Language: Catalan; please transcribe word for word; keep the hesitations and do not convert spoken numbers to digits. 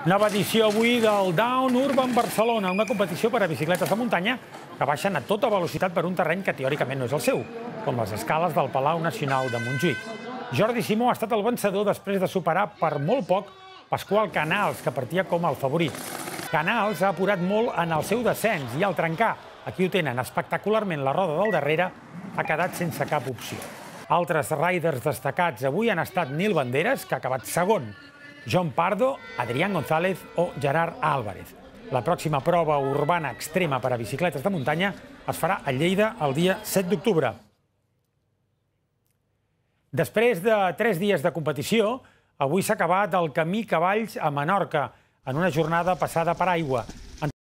Nova edició avui del Down Urban Barcelona, una competició per a bicicletes de muntanya que baixen a tota velocitat per un terreny que teòricament no és el seu, com les escales del Palau Nacional de Montjuïc. Jordi Simó ha estat el vencedor després de superar per molt poc Pasqual Canals, que partia com el favorit. Canals ha apurat molt en el seu descens i al trencar, aquí ho tenen espectacularment, la roda del darrere, ha quedat sense cap opció. Altres riders destacats avui han estat Nil Banderas, que ha acabat segon, John Pardo, Adrián González o Gerard Álvarez. La pròxima prova urbana extrema per a bicicletes de muntanya es farà a Lleida el dia set d'octubre. Després de tres dies de competició, avui s'ha acabat el Camí Cavalls a Menorca, en una jornada passada per aigua.